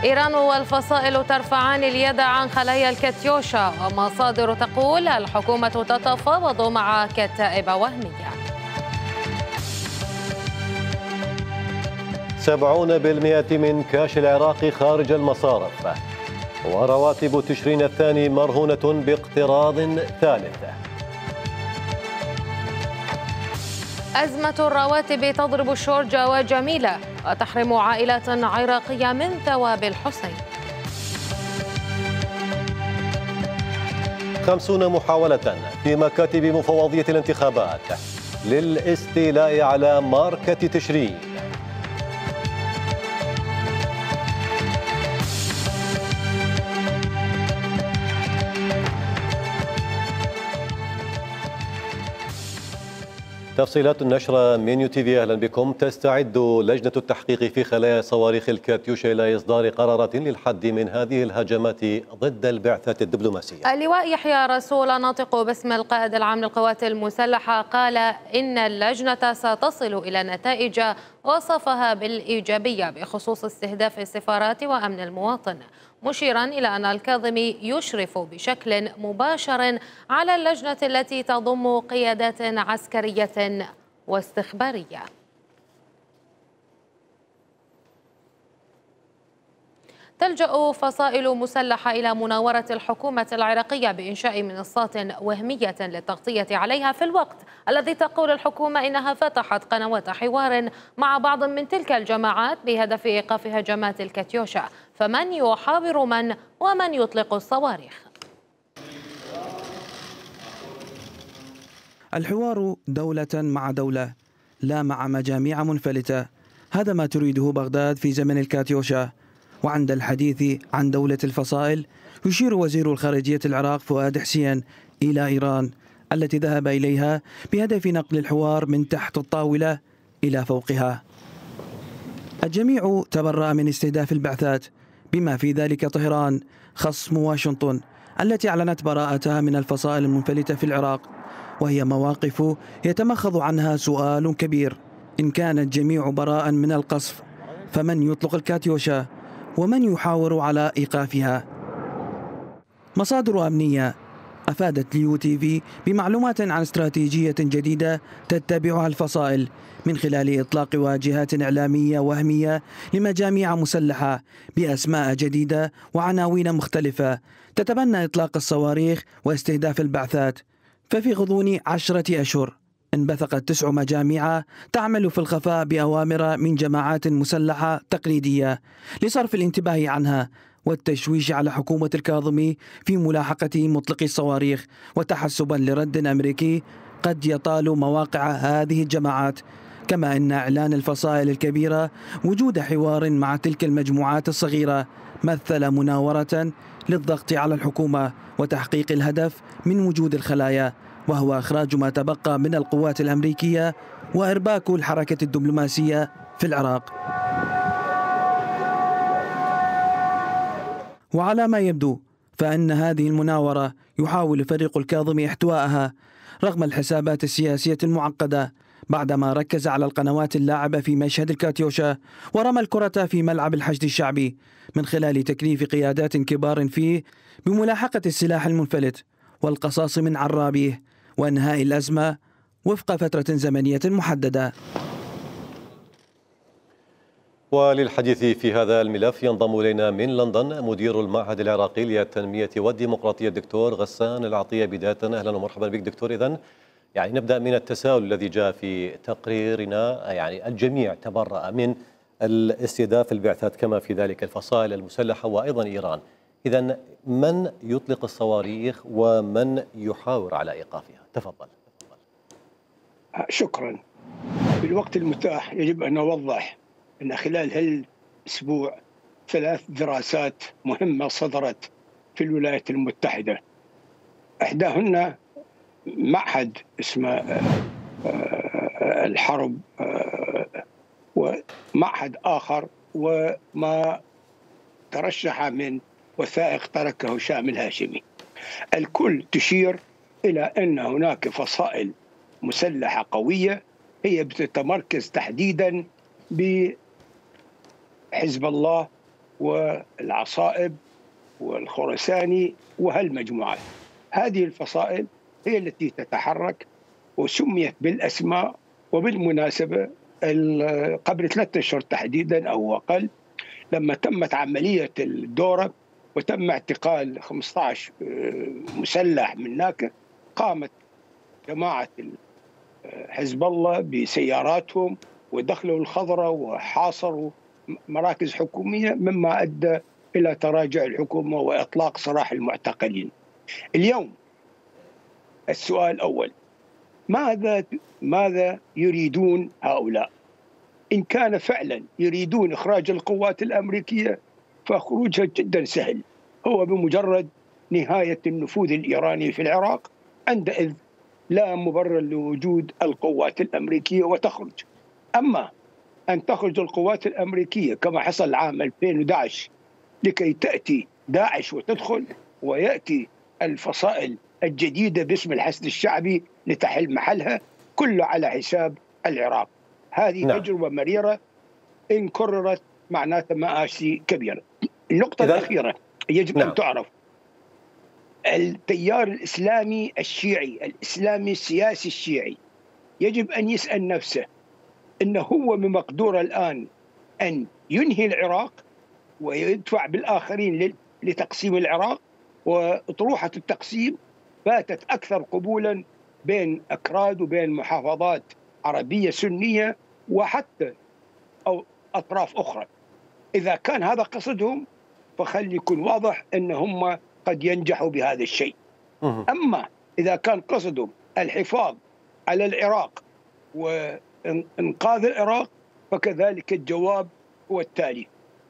إيران والفصائل ترفعان اليد عن خلايا الكاتيوشا، ومصادر تقول الحكومة تتفاوض مع كتائب وهمية. 70% من كاش العراق خارج المصارف، ورواتب تشرين الثاني مرهونة باقتراض ثالث. أزمة الرواتب تضرب شورجة وجميلة وتحرم عائلات عراقية من ثواب الحسين. 50 محاولة في مكاتب مفوضية الانتخابات للاستيلاء على ماركة تشرين. تفصيلات النشرة من يو تي في. أهلا بكم. تستعد لجنة التحقيق في خلايا صواريخ الكاتيوشا إلى إصدار قرارات للحد من هذه الهجمات ضد البعثات الدبلوماسية. اللواء يحيى رسول ناطق باسم القائد العام للقوات المسلحة قال إن اللجنة ستصل إلى نتائج وصفها بالإيجابية بخصوص استهداف السفارات وأمن المواطن، مشيرا إلى أن الكاظمي يشرف بشكل مباشر على اللجنة التي تضم قيادات عسكرية واستخبارية. تلجأ فصائل مسلحة إلى مناورة الحكومة العراقية بإنشاء منصات وهمية للتغطية عليها، في الوقت الذي تقول الحكومة إنها فتحت قنوات حوار مع بعض من تلك الجماعات بهدف إيقاف هجمات الكاتيوشا. فمن يحاور من ومن يطلق الصواريخ؟ الحوار دولة مع دولة، لا مع مجاميع منفلتة. هذا ما تريده بغداد في زمن الكاتيوشا. وعند الحديث عن دولة الفصائل يشير وزير الخارجية العراق فؤاد حسين إلى إيران التي ذهب إليها بهدف نقل الحوار من تحت الطاولة إلى فوقها. الجميع تبرأ من استهداف البعثات بما في ذلك طهران خصم واشنطن التي أعلنت براءتها من الفصائل المنفلتة في العراق، وهي مواقف يتمخض عنها سؤال كبير: إن كان الجميع براء من القصف فمن يطلق الكاتيوشا ومن يحاور على إيقافها؟ مصادر أمنية أفادت ليو تي في بمعلومات عن استراتيجية جديدة تتبعها الفصائل من خلال إطلاق واجهات إعلامية وهمية لمجاميع مسلحة بأسماء جديدة وعناوين مختلفة تتبنى إطلاق الصواريخ واستهداف البعثات. ففي غضون 10 أشهر انبثقت 9 مجاميع تعمل في الخفاء بأوامر من جماعات مسلحة تقليدية لصرف الانتباه عنها والتشويش على حكومة الكاظمي في ملاحقة مطلقي الصواريخ، وتحسبا لرد أمريكي قد يطال مواقع هذه الجماعات. كما أن إعلان الفصائل الكبيرة وجود حوار مع تلك المجموعات الصغيرة مثل مناورة للضغط على الحكومة وتحقيق الهدف من وجود الخلايا، وهو إخراج ما تبقى من القوات الأمريكية وإرباك الحركة الدبلوماسية في العراق. وعلى ما يبدو فإن هذه المناورة يحاول فريق الكاظمي احتوائها رغم الحسابات السياسية المعقدة، بعدما ركز على القنوات اللاعبة في مشهد الكاتيوشا ورمى الكرة في ملعب الحشد الشعبي من خلال تكليف قيادات كبار فيه بملاحقة السلاح المنفلت والقصاص من عرابيه وإنهاء الأزمة وفق فترة زمنية محددة. وللحديث في هذا الملف ينضم إلينا من لندن مدير المعهد العراقي للتنمية والديمقراطية الدكتور غسان العطية. بداية أهلا ومرحبا بك دكتور. إذن يعني نبدأ من التساؤل الذي جاء في تقريرنا، يعني الجميع تبرأ من الاستهداف البعثات كما في ذلك الفصائل المسلحة وأيضا إيران. إذن من يطلق الصواريخ ومن يحاور على إيقافها؟ تفضل. شكرا. في الوقت المتاح يجب أن نوضح أن خلال هالأسبوع 3 دراسات مهمة صدرت في الولايات المتحدة، إحداهن معهد اسمه الحرب، ومعهد آخر وما ترشح من وثائق تركه هشام الهاشمي. الكل تشير إلى أن هناك فصائل مسلحة قوية هي بتتمركز تحديدا بحزب الله والعصائب والخرساني وهالمجموعات. هذه الفصائل هي التي تتحرك وسميت بالأسماء. وبالمناسبة قبل 3 أشهر تحديدا أو أقل، لما تمت عملية الدورة وتم اعتقال 15 مسلح من هناك، قامت جماعة حزب الله بسياراتهم ودخلوا الخضرة وحاصروا مراكز حكومية، مما أدى إلى تراجع الحكومة وإطلاق سراح المعتقلين. اليوم السؤال الأول: ماذا يريدون هؤلاء؟ إن كان فعلا يريدون إخراج القوات الأمريكية فخروجها جدا سهل، هو بمجرد نهاية النفوذ الإيراني في العراق، عندئذ لا مبرر لوجود القوات الأمريكية وتخرج. أما أن تخرج القوات الأمريكية كما حصل عام 2011 لكي تأتي داعش وتدخل، ويأتي الفصائل الجديدة باسم الحشد الشعبي لتحل محلها، كله على حساب العراق. هذه تجربة مريرة إن كررت معناتها مآسي كبيرة. النقطة الأخيرة يجب أن تعرف: التيار الإسلامي الشيعي، الإسلامي السياسي الشيعي، يجب أن يسأل نفسه إنه هو بمقدوره الآن أن ينهي العراق ويدفع بالآخرين لتقسيم العراق، وأطروحة التقسيم باتت أكثر قبولا بين أكراد وبين محافظات عربية سنية وحتى أو أطراف أخرى. إذا كان هذا قصدهم فخلي يكون واضح أن هم قد ينجحوا بهذا الشيء. أما إذا كان قصدهم الحفاظ على العراق وإنقاذ العراق فكذلك الجواب هو التالي: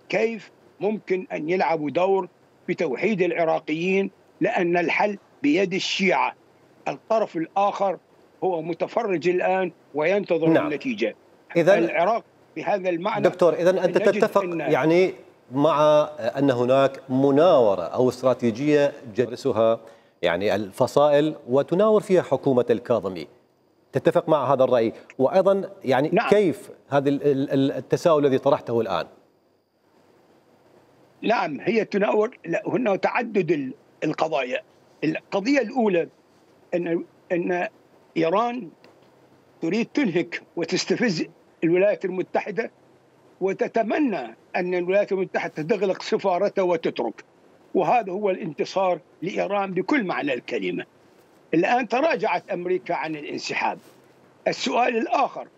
كيف ممكن أن يلعبوا دور بتوحيد العراقيين؟ لأن الحل بيد الشيعة، الطرف الآخر هو متفرج الآن وينتظر النتيجة. إذن العراق بهذا المعنى دكتور، إذن أنت تتفق يعني مع أن هناك مناورة أو استراتيجية جلسها يعني الفصائل وتناور فيها حكومة الكاظمي، تتفق مع هذا الرأي؟ وأيضا يعني كيف هذا التساؤل الذي طرحته الآن؟ نعم، هي تناور، هنا تعدد القضايا. القضية الأولى أن إيران تريد تنهك وتستفز الولايات المتحدة، وتتمنى أن الولايات المتحدة تغلق سفارتها وتترك، وهذا هو الانتصار لإيران بكل معنى الكلمة. الآن تراجعت أمريكا عن الانسحاب. السؤال الآخر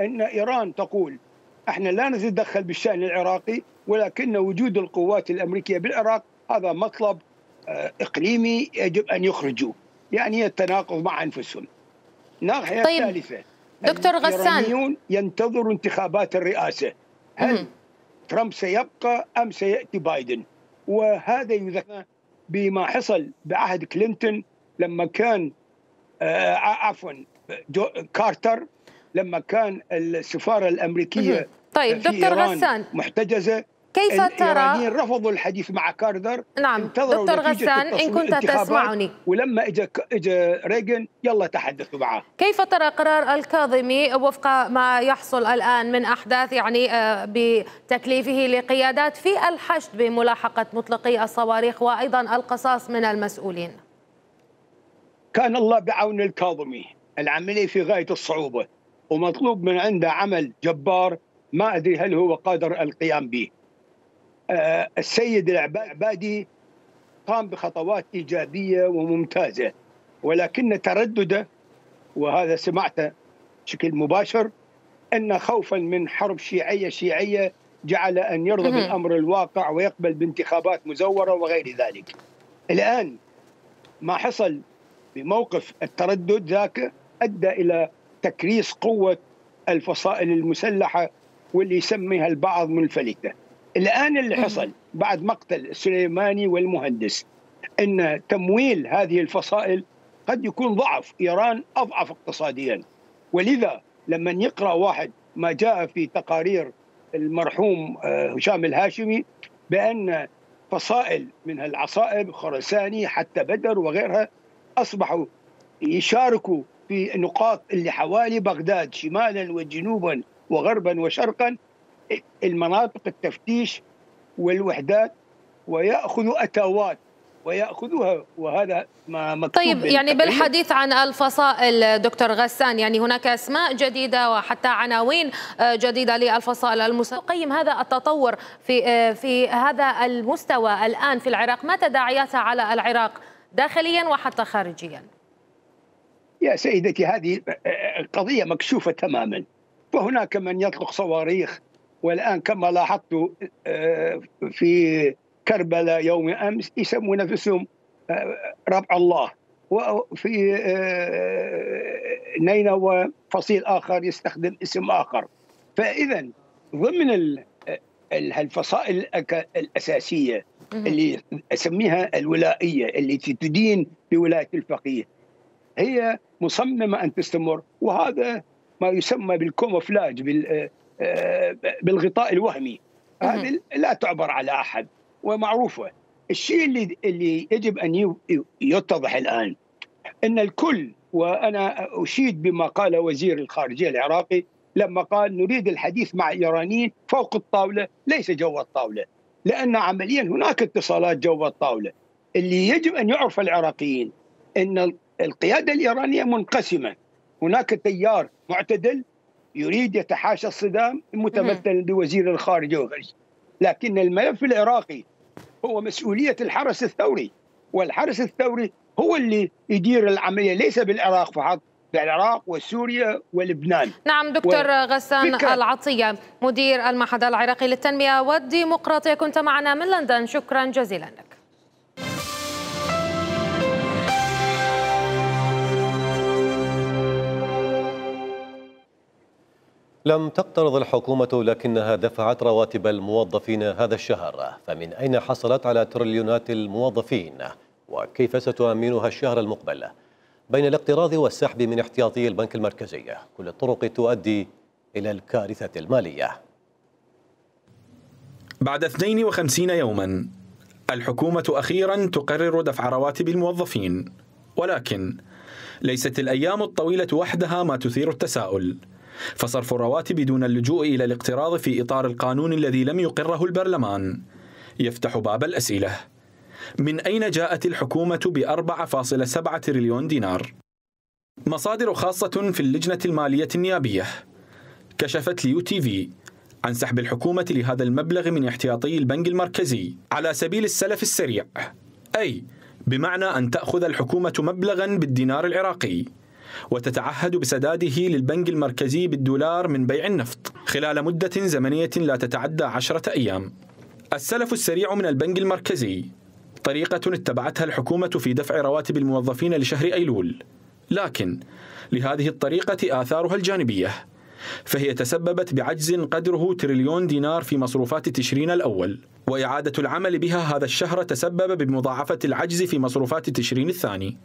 أن إيران تقول: احنا لا نتدخل بالشأن العراقي، ولكن وجود القوات الأمريكية بالعراق هذا مطلب إقليمي يجب أن يخرجوا، يعني يتناقض مع أنفسهم. الناحية الثالثة: دكتور غسان، الإيرانيون ينتظروا انتخابات الرئاسة، هل ترامب سيبقى أم سيأتي بايدن؟ وهذا يذكر بما حصل بعهد كلينتون لما كان كارتر، لما كان السفارة الأمريكية طيب في دكتور إيران غسان، محتجزة، كيف ترى؟ الإيرانيين رفضوا الحديث مع كارتر. نعم دكتور غسان، إن كنت تسمعني، ولما اجى ريغن يلا تحدثوا معه. كيف ترى قرار الكاظمي وفق ما يحصل الآن من أحداث يعني بتكليفه لقيادات في الحشد بملاحقة مطلقي الصواريخ وأيضا القصاص من المسؤولين؟ كان الله بعون الكاظمي، العملية في غاية الصعوبة ومطلوب من عنده عمل جبار ما أدري هل هو قادر القيام به. السيد العبادي قام بخطوات إيجابية وممتازة، ولكن تردده، وهذا سمعته بشكل مباشر، أن خوفا من حرب شيعية جعل أن يرضى بالأمر الواقع ويقبل بانتخابات مزورة وغير ذلك. الآن ما حصل بموقف التردد ذاك أدى إلى تكريس قوة الفصائل المسلحة واللي يسميها البعض منفلتة. الآن اللي حصل بعد مقتل السليماني والمهندس أن تمويل هذه الفصائل قد يكون ضعف إيران، أضعف اقتصاديا، ولذا لما يقرأ واحد ما جاء في تقارير المرحوم هشام الهاشمي بأن فصائل من العصائب خرساني حتى بدر وغيرها أصبحوا يشاركوا في نقاط اللي حوالي بغداد شمالا وجنوبا وغربا وشرقا، المناطق التفتيش والوحدات ويأخذوا أتاوات ويأخذوها، وهذا ما مكتوب. طيب يعني بالحديث عن الفصائل دكتور غسان، يعني هناك أسماء جديدة وحتى عناوين جديدة للفصائل المسلحة. قيم هذا التطور في هذا المستوى الآن في العراق، ما تداعياتها على العراق داخليا وحتى خارجيا؟ يا سيدتي هذه قضية مكشوفة تماما، فهناك من يطلق صواريخ، والآن كما لاحظت في كربلاء يوم أمس يسمون نفسهم ربع الله، وفي نينوى فصيل آخر يستخدم اسم آخر. فإذا ضمن الفصائل الأساسية اللي أسميها الولائية التي تدين بولاية الفقيه هي مصممة أن تستمر، وهذا ما يسمى بالكوموفلاج، بالغطاء الوهمي. هذه لا تعبر على أحد ومعروفة. الشيء اللي يجب أن يتضح الآن أن الكل، وأنا أشيد بما قال وزير الخارجية العراقي لما قال نريد الحديث مع الإيرانيين فوق الطاولة ليس جوا الطاولة، لأن عمليا هناك اتصالات جوا الطاولة. اللي يجب أن يعرف العراقيين أن القيادة الإيرانية منقسمة، هناك تيار معتدل يريد يتحاشى الصدام متمثلا بوزير الخارجية وغيره، لكن الملف العراقي هو مسؤولية الحرس الثوري، والحرس الثوري هو اللي يدير العملية، ليس بالعراق فقط، بالعراق وسوريا ولبنان. نعم دكتور غسان العطية مدير المعهد العراقي للتنمية والديمقراطية، كنت معنا من لندن، شكرا جزيلا لك. لم تقترض الحكومة لكنها دفعت رواتب الموظفين هذا الشهر، فمن أين حصلت على تريليونات الموظفين؟ وكيف ستؤمنها الشهر المقبل؟ بين الاقتراض والسحب من احتياطي البنك المركزي، كل الطرق تؤدي إلى الكارثة المالية. بعد 52 يوما الحكومة أخيرا تقرر دفع رواتب الموظفين، ولكن ليست الأيام الطويلة وحدها ما تثير التساؤل، فصرف الرواتب دون اللجوء إلى الاقتراض في إطار القانون الذي لم يقره البرلمان يفتح باب الأسئلة. من أين جاءت الحكومة ب4.7 تريليون دينار؟ مصادر خاصة في اللجنة المالية النيابية كشفت ليو تي في عن سحب الحكومة لهذا المبلغ من احتياطي البنك المركزي على سبيل السلف السريع، أي بمعنى أن تأخذ الحكومة مبلغا بالدينار العراقي وتتعهد بسداده للبنك المركزي بالدولار من بيع النفط خلال مدة زمنية لا تتعدى 10 أيام. السلف السريع من البنك المركزي طريقة اتبعتها الحكومة في دفع رواتب الموظفين لشهر أيلول، لكن لهذه الطريقة آثارها الجانبية، فهي تسببت بعجز قدره تريليون دينار في مصروفات تشرين الأول، وإعادة العمل بها هذا الشهر تسبب بمضاعفة العجز في مصروفات تشرين الثاني.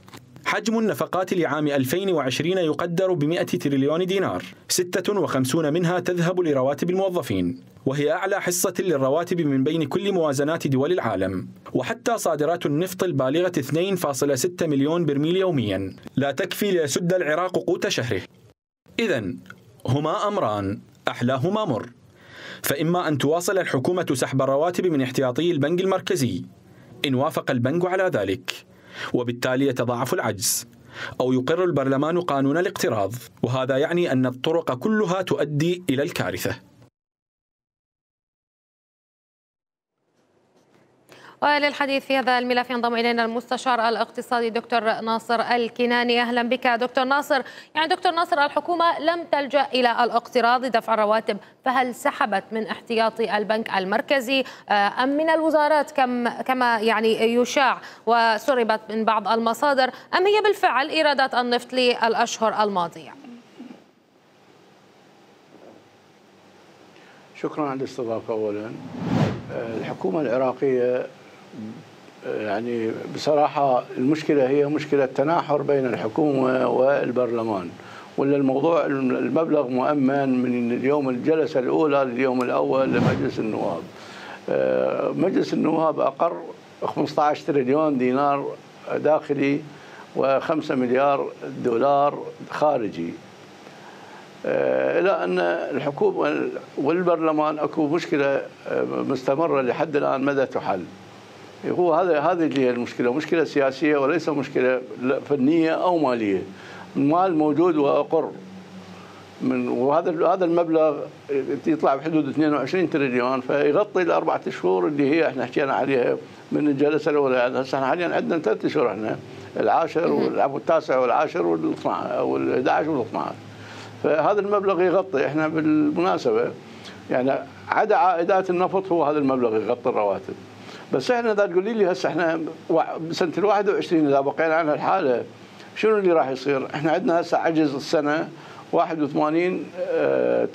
حجم النفقات لعام 2020 يقدر ب100 تريليون دينار، 56 منها تذهب لرواتب الموظفين، وهي أعلى حصة للرواتب من بين كل موازنات دول العالم. وحتى صادرات النفط البالغة 2.6 مليون برميل يوميا لا تكفي ليسد العراق قوت شهره. إذن هما أمران أحلاهما مر، فإما أن تواصل الحكومة سحب الرواتب من احتياطي البنك المركزي إن وافق البنك على ذلك، وبالتالي يتضاعف العجز، أو يقر البرلمان قانون الاقتراض، وهذا يعني أن الطرق كلها تؤدي إلى الكارثة. وللحديث في هذا الملف ينضم إلينا المستشار الاقتصادي دكتور ناصر الكناني. أهلا بك دكتور ناصر. يعني دكتور ناصر، الحكومة لم تلجأ إلى الاقتراض لدفع الرواتب، فهل سحبت من احتياطي البنك المركزي أم من الوزارات كما يعني يشاع وسربت من بعض المصادر، أم هي بالفعل إيرادات النفط للأشهر الماضية؟ شكرا على الاستضافة. أولا الحكومة العراقية يعني بصراحة المشكلة هي مشكلة تناحر بين الحكومة والبرلمان، ولا الموضوع المبلغ مؤمن من اليوم الجلسة الأولى لليوم الأول لمجلس النواب. مجلس النواب أقر 15 تريليون دينار داخلي و5 مليار دولار خارجي. إلى أن الحكومة والبرلمان أكو مشكلة مستمرة لحد الآن مدى تحل. هو هذه اللي هي المشكلة، مشكلة سياسية وليس مشكلة فنية أو مالية. المال موجود وأقر، وهذا المبلغ يطلع بحدود 22 تريليون، فيغطي الأربعة شهور اللي هي احنا حكينا عليها من الجلسة الأولى. هسه احنا حاليا عندنا 3 شهور، احنا العاشر والتاسع والعاشر وال11 وال12، فهذا المبلغ يغطي. احنا بالمناسبة يعني عدا عائدات النفط هو هذا المبلغ يغطي الرواتب. بس احنا اذا تقولي لي هسه احنا بسنة ال21 اذا بقينا عن الحالة شنو اللي راح يصير؟ احنا عندنا هسه عجز السنة 81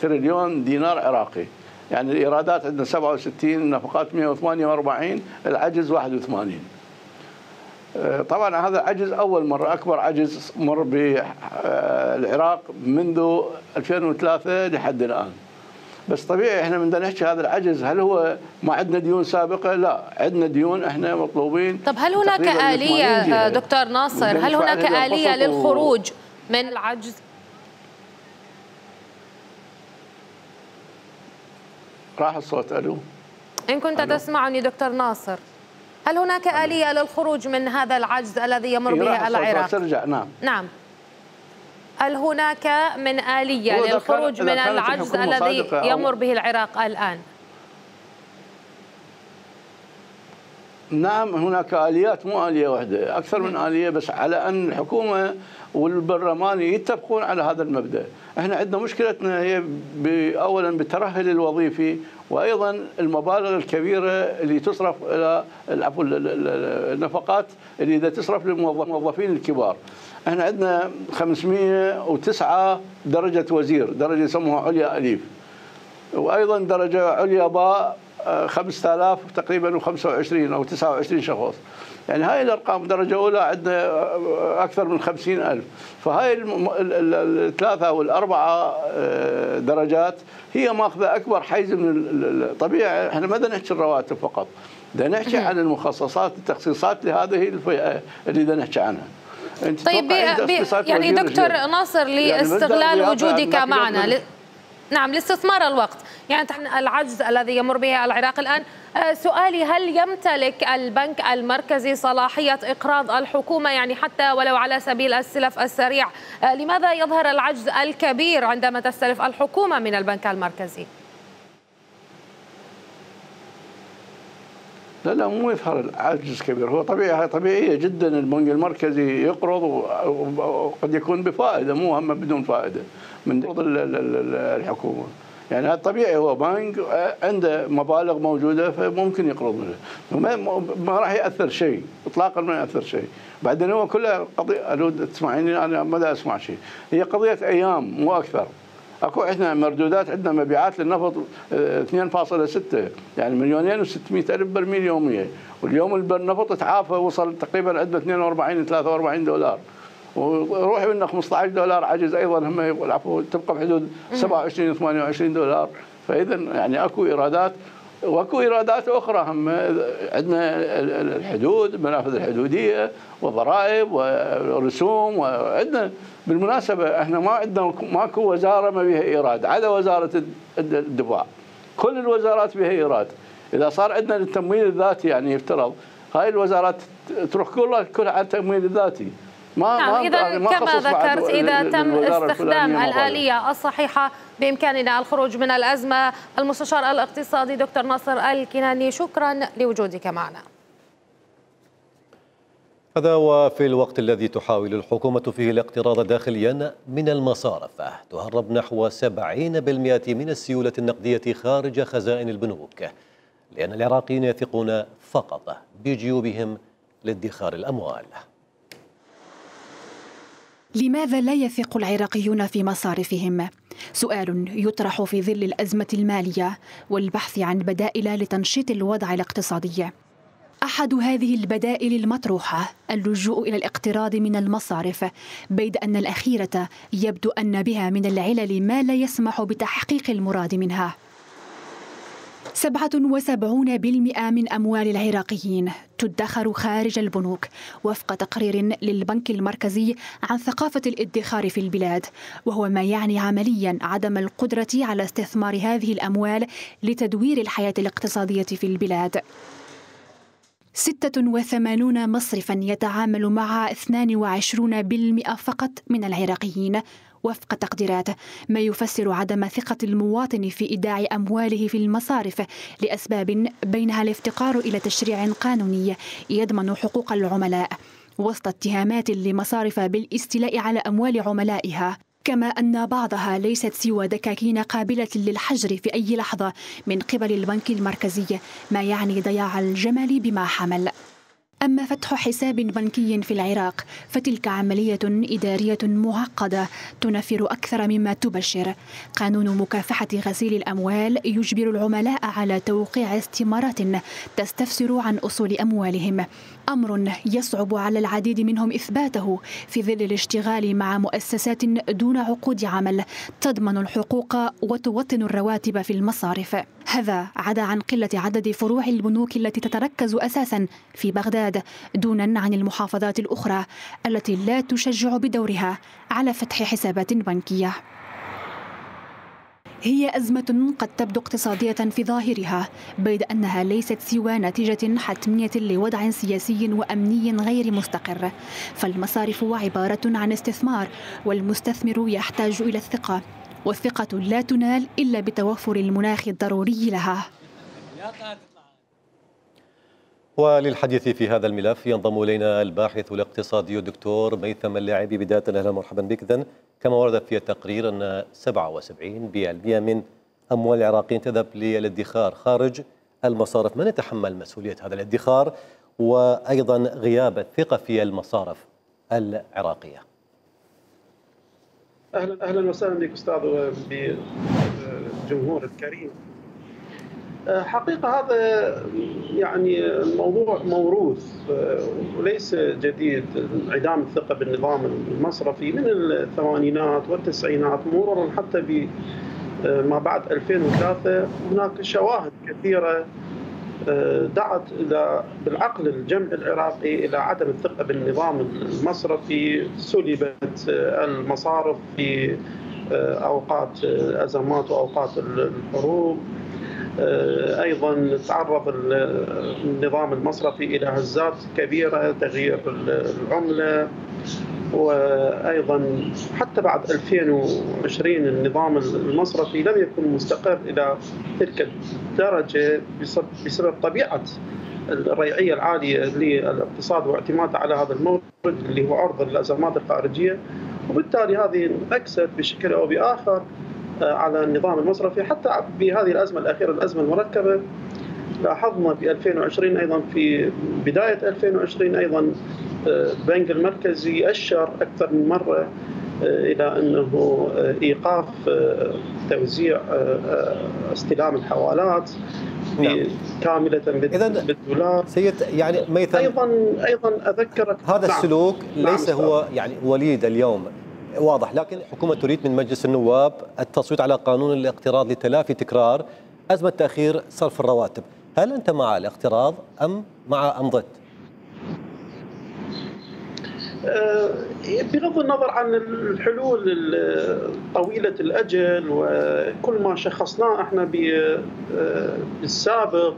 تريليون دينار عراقي، يعني الإيرادات عندنا 67، النفقات 148، العجز 81. طبعا هذا عجز أول مرة، أكبر عجز مر بالعراق منذ 2003 لحد الآن. بس طبيعي احنا بدنا نحكي هذا العجز هل هو ما عندنا ديون سابقة؟ لا، عندنا ديون، احنا مطلوبين. طب هل هناك آلية دكتور ناصر، هل هناك آلية للخروج من العجز؟ راح الصوت. ألو، إن كنت تسمعني دكتور ناصر، هل هناك آلية للخروج من هذا العجز الذي يمر به العراق؟ ترجع. نعم. هل هناك من آلية للخروج من العجز الذي يمر به العراق الآن؟ نعم هناك آليات، مو آلية واحدة، أكثر من آلية، بس على أن الحكومة والبرلمان يتفقون على هذا المبدأ. احنا عندنا مشكلتنا هي أولا بالترهل الوظيفي، وأيضا المبالغ الكبيرة اللي تصرف إلى النفقات اللي إذا تصرف للموظفين الكبار. احنا عندنا 509 درجة وزير، درجة يسموها عليا أليف، وأيضا درجة عليا باء 5000 تقريبا و25 أو 29 شخص. يعني هاي الأرقام درجة أولى عندنا أكثر من 50,000. فهاي الثلاثة والأربعة درجات هي ماخذة أكبر حيز من طبيعي. احنا ما بدنا نحكي الرواتب فقط، بدنا نحكي عن المخصصات، التخصيصات لهذه الفئة اللي بدنا نحكي عنها. طيب يعني دكتور ناصر لاستغلال وجودك معنا نعم لاستثمار الوقت، يعني العجز الذي يمر به العراق الآن، سؤالي هل يمتلك البنك المركزي صلاحية إقراض الحكومة، يعني حتى ولو على سبيل السلف السريع؟ لماذا يظهر العجز الكبير عندما تستلف الحكومة من البنك المركزي؟ لا مو يظهر العجز كبير، هو طبيعية جدا البنك المركزي يقرض وقد يكون بفائدة، مو هم بدون فائدة من قرض الحكومة. يعني هذا طبيعي، هو بنك عنده مبالغ موجودة فممكن يقرض منها، ما راح يأثر شيء إطلاقا، ما يأثر شيء. بعدين هو كلها قضية، ألو تسمعيني أنا ما أسمع شيء، هي قضية أيام مو أكثر. اكو احنا مردودات، عندنا مبيعات للنفط 2.6 يعني 2,600,000 برميل يوميا، واليوم النفط تعافى وصل تقريبا عندنا 42 43 دولار، وروحي منه 15 دولار عجز ايضا هم العفو تبقى بحدود 27 28 دولار. فاذا يعني اكو ايرادات واكو ايرادات اخرى، هم عندنا الحدود، المنافذ الحدوديه وضرائب ورسوم، وعندنا بالمناسبه احنا ما عندنا ماكو وزاره ما بها ايراد عدا وزاره الدفاع، كل الوزارات بها ايراد. اذا صار عندنا التمويل الذاتي يعني يفترض هاي الوزارات تروح كلها على التمويل الذاتي. نعم، إذا كما ذكرت إذا تم استخدام الآلية الصحيحة بإمكاننا الخروج من الأزمة. المستشار الاقتصادي دكتور ناصر الكناني، شكرا لوجودك معنا. هذا وفي الوقت الذي تحاول الحكومة فيه الاقتراض داخليا من المصارف، تهرب نحو 70% من السيولة النقدية خارج خزائن البنوك، لأن العراقيين يثقون فقط بجيوبهم لادخار الأموال. لماذا لا يثق العراقيون في مصارفهم؟ سؤال يطرح في ظل الأزمة المالية والبحث عن بدائل لتنشيط الوضع الاقتصادي. أحد هذه البدائل المطروحة اللجوء إلى الاقتراض من المصارف، بيد أن الأخيرة يبدو أن بها من العلل ما لا يسمح بتحقيق المراد منها. 77% من أموال العراقيين تدخر خارج البنوك وفق تقرير للبنك المركزي عن ثقافة الادخار في البلاد، وهو ما يعني عمليا عدم القدرة على استثمار هذه الأموال لتدوير الحياة الاقتصادية في البلاد. 86 مصرفا يتعامل مع 22% فقط من العراقيين وفق تقديرات، ما يفسر عدم ثقة المواطن في إيداع أمواله في المصارف لأسباب بينها الافتقار إلى تشريع قانوني يضمن حقوق العملاء، وسط اتهامات لمصارف بالاستيلاء على أموال عملائها، كما أن بعضها ليست سوى دكاكين قابلة للحجر في أي لحظة من قبل البنك المركزي، ما يعني ضياع الجمل بما حمل. أما فتح حساب بنكي في العراق فتلك عملية إدارية معقدة تنفر أكثر مما تبشر. قانون مكافحة غسيل الأموال يجبر العملاء على توقيع استمارات تستفسر عن أصول أموالهم، أمر يصعب على العديد منهم إثباته في ظل الاشتغال مع مؤسسات دون عقود عمل تضمن الحقوق وتوطن الرواتب في المصارف. هذا عدا عن قلة عدد فروع البنوك التي تتركز أساسا في بغداد دونا عن المحافظات الأخرى التي لا تشجع بدورها على فتح حسابات بنكية. هي أزمة قد تبدو اقتصادية في ظاهرها، بيد أنها ليست سوى نتيجة حتمية لوضع سياسي وأمني غير مستقر، فالمصارف عبارة عن استثمار، والمستثمر يحتاج إلى الثقة، والثقة لا تنال إلا بتوفر المناخ الضروري لها. وللحديث في هذا الملف ينضم إلينا الباحث الاقتصادي الدكتور ميثم اللاعبي. بداية أهلا ومرحبا بك. إذن كما ورد في التقرير أن 77% من أموال العراقيين تذهب للادخار خارج المصارف، من يتحمل مسؤولية هذا الادخار وأيضا غياب الثقة في المصارف العراقية؟ أهلا وسهلا بك أستاذ وبالجمهور الكريم. حقيقة هذا يعني الموضوع موروث وليس جديد، انعدام الثقة بالنظام المصرفي من الثمانينات والتسعينات مرورا حتى بما بعد 2003. هناك شواهد كثيرة دعت إلى بالعقل الجمعي العراقي إلى عدم الثقة بالنظام المصرفي. سلبت المصارف في أوقات أزمات وأوقات الحروب، أيضا تعرض النظام المصرفي إلى هزات كبيرة، تغيير العملة، وأيضا حتى بعد 2020 النظام المصرفي لم يكن مستقر إلى تلك الدرجة بسبب طبيعة الريعية العالية للاقتصاد واعتماده على هذا المورد اللي هو عرض الأزمات الخارجية، وبالتالي هذه انعكست بشكل أو بآخر على النظام المصرفي. حتى بهذه الأزمة الأخيرة، الأزمة المركبة، لاحظنا في 2020 أيضا، في بداية 2020 أيضا البنك المركزي أشر أكثر من مرة إلى أنه إيقاف توزيع استلام الحوالات كاملة بالدولار. سيد يعني ميثم، أيضا أذكرك هذا السلوك ليس هو يعني وليد اليوم، واضح، لكن الحكومة تريد من مجلس النواب التصويت على قانون الاقتراض لتلافي تكرار أزمة تأخير صرف الرواتب. هل أنت مع الاقتراض أم ضد؟ بغض النظر عن الحلول طويلة الأجل وكل ما شخصناه احنا بالسابق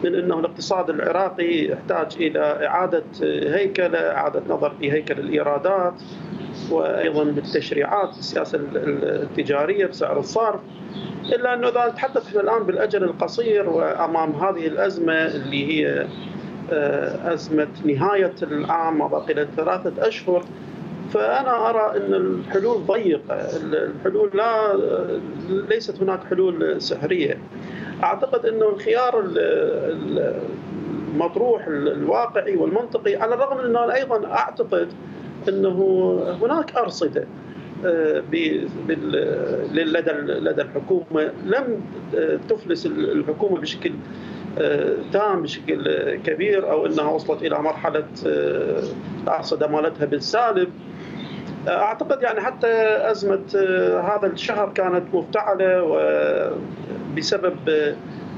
من أنه الاقتصاد العراقي يحتاج إلى إعادة هيكلة، إعادة نظر في هيكل الإيرادات، وأيضا بالتشريعات، السياسة التجارية بسعر الصرف. إلا أنه إذا نتحدث احنا الآن بالأجل القصير وأمام هذه الأزمة اللي هي أزمة نهاية العام ما بقي له 3 أشهر، فأنا أرى أن الحلول ضيقة، الحلول ليست هناك حلول سحرية. أعتقد أنه الخيار المطروح الواقعي والمنطقي، على الرغم من أنه أيضا أعتقد أنه هناك أرصدة لدى الحكومة لم تفلس الحكومة بشكل تام، بشكل كبير، أو أنها وصلت إلى مرحلة الأرصدة مالتها بالسالب. أعتقد يعني حتى أزمة هذا الشهر كانت مفتعلة بسبب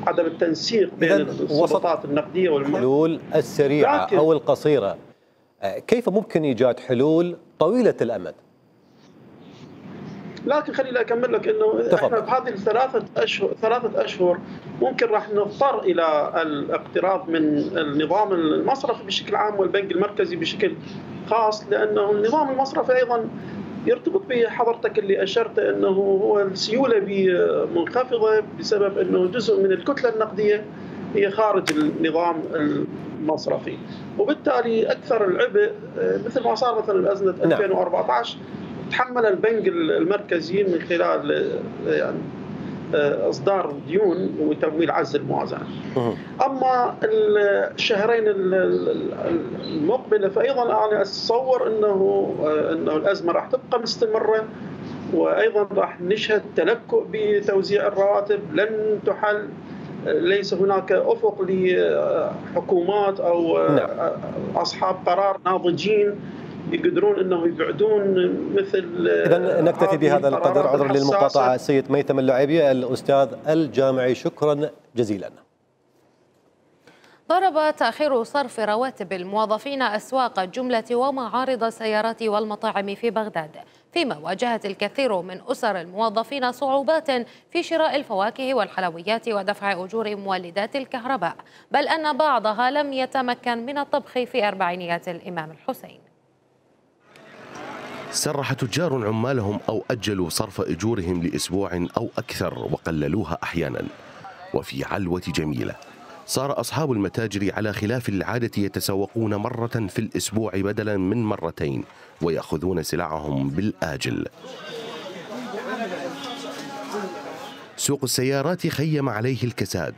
عدم التنسيق بين السلطات النقدية والمالية. الحلول السريعة أو القصيرة، كيف ممكن إيجاد حلول طويلة الأمد؟ لكن خليني أكمل لك أنه إحنا بهذه ثلاثة أشهر ممكن راح نضطر إلى الاقتراض من النظام المصرفي بشكل عام والبنك المركزي بشكل خاص، لأنه النظام المصرفي أيضا يرتبط به حضرتك اللي أشرت أنه هو السيولة منخفضة بسبب أنه جزء من الكتلة النقدية هي خارج النظام المصرفي، وبالتالي أكثر العبء مثل ما صار مثلا بأزمة 2014 تحمل البنك المركزي من خلال يعني إصدار ديون وتمويل عجز الموازنة. أما الشهرين المقبلة فأيضا أنا أتصور أنه الأزمة راح تبقى مستمرة، وأيضا راح نشهد تلكؤ بتوزيع الرواتب، لن تحل، ليس هناك أفق لحكومات أو أصحاب قرار ناضجين يقدرون انهم يبعدون مثل. اذا نكتفي بهذا القدر، عذرا للمقاطعه. السيد ميثم اللعيبي الاستاذ الجامعي، شكرا جزيلا. ضرب تأخير صرف رواتب الموظفين أسواق الجملة ومعارض السيارات والمطاعم في بغداد، فيما واجهت الكثير من أسر الموظفين صعوبات في شراء الفواكه والحلويات ودفع أجور مولدات الكهرباء، بل أن بعضها لم يتمكن من الطبخ في أربعينيات الإمام الحسين. سرح تجار عمالهم أو أجلوا صرف أجورهم لأسبوع أو أكثر وقللوها أحيانا. وفي علوة جميلة صار أصحاب المتاجر على خلاف العادة يتسوقون مرة في الأسبوع بدلا من مرتين ويأخذون سلعهم بالآجل. سوق السيارات خيم عليه الكساد.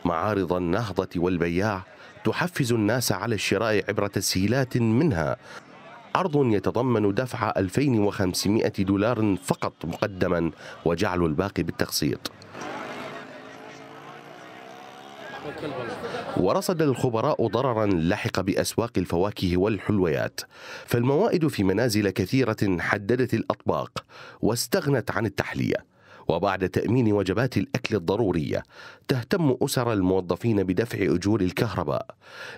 معارض النهضة والبياع تحفز الناس على الشراء عبر تسهيلات، منها عرض يتضمن دفع 2500 دولار فقط مقدما وجعل الباقي بالتقسيط. ورصد الخبراء ضررا لحق بأسواق الفواكه والحلويات، فالموائد في منازل كثيرة حددت الأطباق واستغنت عن التحلية. وبعد تأمين وجبات الأكل الضرورية تهتم أسر الموظفين بدفع أجور الكهرباء،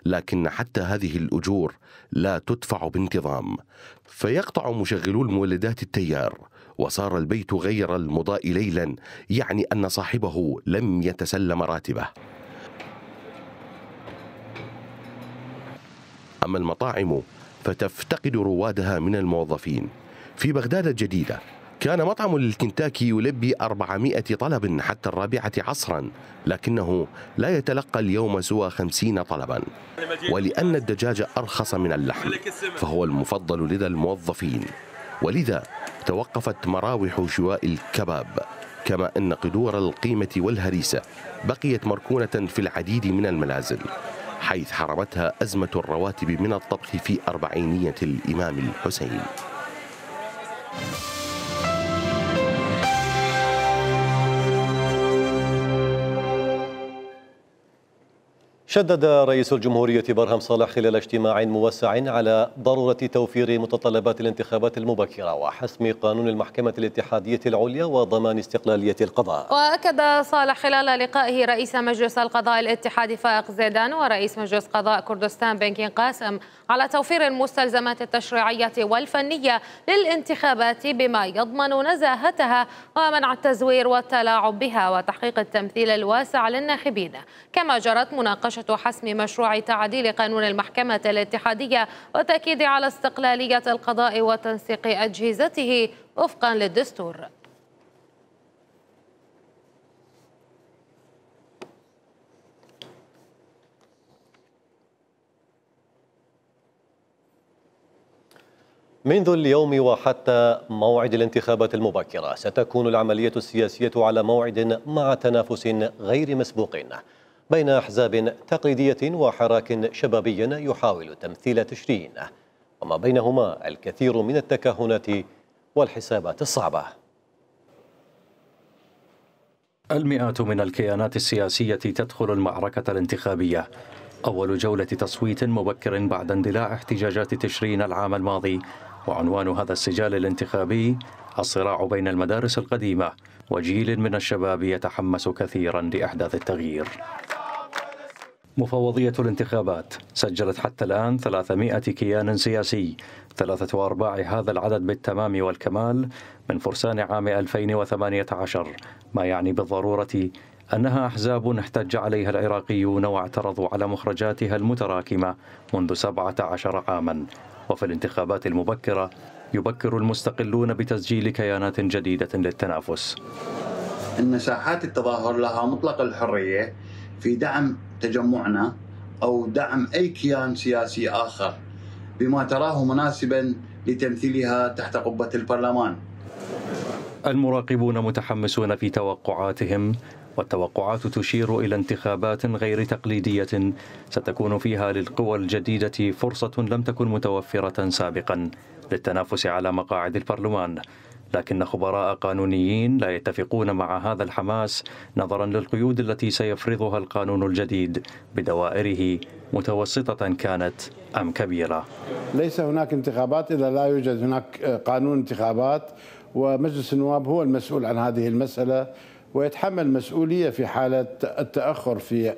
لكن حتى هذه الأجور لا تدفع بانتظام، فيقطع مشغلو المولدات التيار، وصار البيت غير المضاء ليلا، يعني أن صاحبه لم يتسلم راتبه. أما المطاعم فتفتقد روادها من الموظفين. في بغداد الجديدة كان مطعم للكنتاكي يلبي 400 طلب حتى 4 عصرا، لكنه لا يتلقى اليوم سوى 50 طلبا. ولأن الدجاج أرخص من اللحم فهو المفضل لدى الموظفين، ولذا توقفت مراوح شواء الكباب، كما أن قدور القيمة والهريسة بقيت مركونة في العديد من المنازل، حيث حرمتها أزمة الرواتب من الطبخ في أربعينية الإمام الحسين. شدد رئيس الجمهورية برهم صالح خلال اجتماع موسع على ضرورة توفير متطلبات الانتخابات المبكرة وحسم قانون المحكمة الاتحادية العليا وضمان استقلالية القضاء. وأكد صالح خلال لقائه رئيس مجلس القضاء الاتحادي فائق زيدان ورئيس مجلس قضاء كردستان بنكين قاسم على توفير المستلزمات التشريعية والفنية للانتخابات بما يضمن نزاهتها ومنع التزوير والتلاعب بها وتحقيق التمثيل الواسع للناخبين. كما جرت مناقشة حسم مشروع تعديل قانون المحكمة الاتحادية والتأكيد على استقلالية القضاء وتنسيق أجهزته وفقا للدستور. منذ اليوم وحتى موعد الانتخابات المبكرة ستكون العملية السياسية على موعد مع تنافس غير مسبوق بين أحزاب تقليدية وحراك شبابي يحاول تمثيل تشرين، وما بينهما الكثير من التكهنات والحسابات الصعبة. المئات من الكيانات السياسية تدخل المعركة الانتخابية، أول جولة تصويت مبكر بعد اندلاع احتجاجات تشرين العام الماضي، وعنوان هذا السجال الانتخابي الصراع بين المدارس القديمة وجيل من الشباب يتحمس كثيرا لإحداث التغيير. مفوضية الانتخابات سجلت حتى الآن 300 كيان سياسي، 3/4 هذا العدد بالتمام والكمال من فرسان عام 2018، ما يعني بالضرورة أنها أحزاب احتج عليها العراقيون واعترضوا على مخرجاتها المتراكمة منذ 17 عاما. وفي الانتخابات المبكرة يبكر المستقلون بتسجيل كيانات جديدة للتنافس. المساحات التظاهر لها مطلق الحرية في دعم تجمعنا أو دعم أي كيان سياسي آخر بما تراه مناسبا لتمثيلها تحت قبة البرلمان. المراقبون متحمسون في توقعاتهم، والتوقعات تشير إلى انتخابات غير تقليدية ستكون فيها للقوى الجديدة فرصة لم تكن متوفرة سابقا للتنافس على مقاعد البرلمان. لكن خبراء قانونيين لا يتفقون مع هذا الحماس نظرا للقيود التي سيفرضها القانون الجديد بدوائره متوسطة كانت أم كبيرة. ليس هناك انتخابات إذا لا يوجد هناك قانون انتخابات، ومجلس النواب هو المسؤول عن هذه المسألة ويتحمل مسؤولية في حالة التأخر في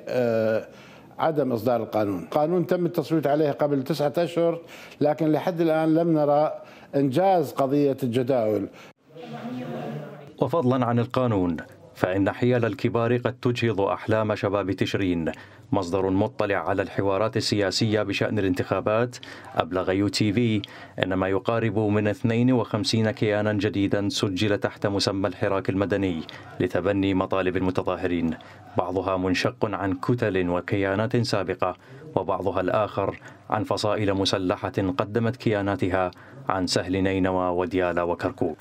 عدم إصدار القانون. القانون تم التصويت عليه قبل 9 أشهر، لكن لحد الآن لم نرى إنجاز قضية الجداول. وفضلا عن القانون فإن حيل الكبار قد تجهض أحلام شباب تشرين. مصدر مطلع على الحوارات السياسية بشأن الانتخابات أبلغ UTV أن ما يقارب من 52 كيانا جديدا سجل تحت مسمى الحراك المدني لتبني مطالب المتظاهرين، بعضها منشق عن كتل وكيانات سابقة، وبعضها الآخر عن فصائل مسلحة قدمت كياناتها عن سهل نينوى وديالى وكركوك.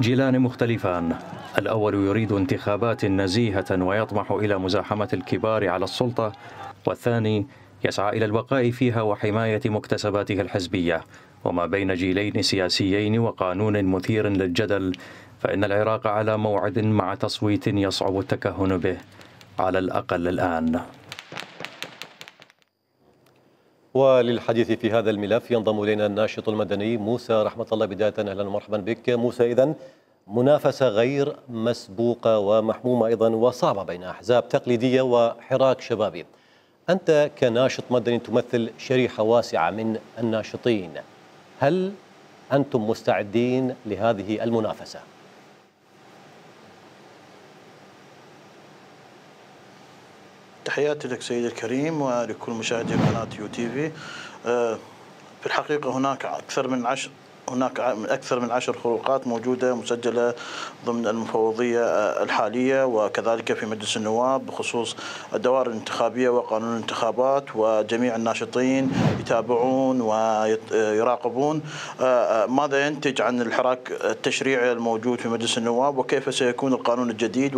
جيلان مختلفان، الأول يريد انتخابات نزيهة ويطمح إلى مزاحمة الكبار على السلطة، والثاني يسعى إلى البقاء فيها وحماية مكتسباته الحزبية. وما بين جيلين سياسيين وقانون مثير للجدل، فإن العراق على موعد مع تصويت يصعب التكهن به على الأقل الآن. وللحديث في هذا الملف ينضم إلينا الناشط المدني موسى رحمة الله. بداية أهلا ومرحبا بك موسى. إذن منافسة غير مسبوقة ومحمومة أيضا وصعبة بين أحزاب تقليدية وحراك شبابي. أنت كناشط مدني تمثل شريحة واسعة من الناشطين، هل أنتم مستعدين لهذه المنافسة؟ تحياتي لك سيدي الكريم ولكل مشاهدي قناة UTV. في الحقيقة هناك أكثر من 10 خروقات موجودة مسجلة ضمن المفوضية الحالية وكذلك في مجلس النواب بخصوص الدوائر الانتخابية وقانون الانتخابات، وجميع الناشطين يتابعون ويراقبون ماذا ينتج عن الحراك التشريعي الموجود في مجلس النواب وكيف سيكون القانون الجديد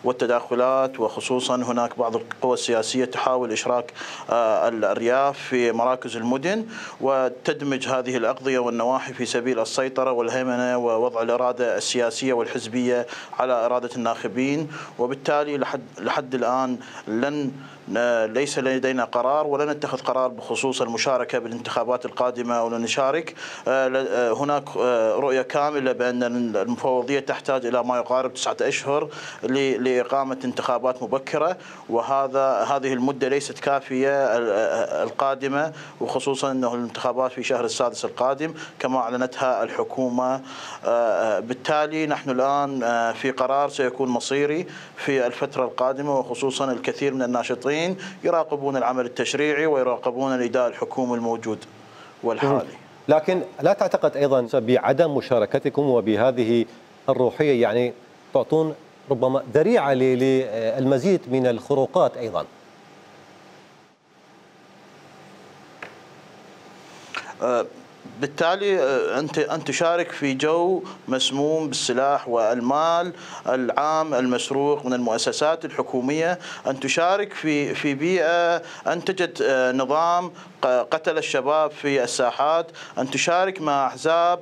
والتداخلات، وخصوصا هناك بعض القوى السياسية تحاول إشراك الأرياف في مراكز المدن وتدمج هذه الأقضية والنواحي في سبيل السيطرة والهيمنة ووضع الإرادة السياسية والحزبية على إرادة الناخبين. وبالتالي لحد الآن ليس لدينا قرار ولن نتخذ قرار بخصوص المشاركة بالانتخابات القادمة ولن نشارك. هناك رؤية كاملة بأن المفوضية تحتاج إلى ما يقارب 9 أشهر لإقامة انتخابات مبكرة، هذه المدة ليست كافية القادمة، وخصوصا أنه الانتخابات في شهر السادس القادم كما أعلنتها الحكومة. بالتالي نحن الآن في قرار سيكون مصيري في الفترة القادمة، وخصوصا الكثير من الناشطين يراقبون العمل التشريعي ويراقبون الإداء الحكومي الموجود والحالي. لكن لا تعتقد أيضا بعدم مشاركتكم وبهذه الروحية يعني تعطون ربما ذريعة للمزيد من الخروقات أيضا؟ بالتالي أن تشارك في جو مسموم بالسلاح والمال العام المسروق من المؤسسات الحكومية، أن تشارك في بيئة أنتجت نظام قتل الشباب في الساحات، أن تشارك مع أحزاب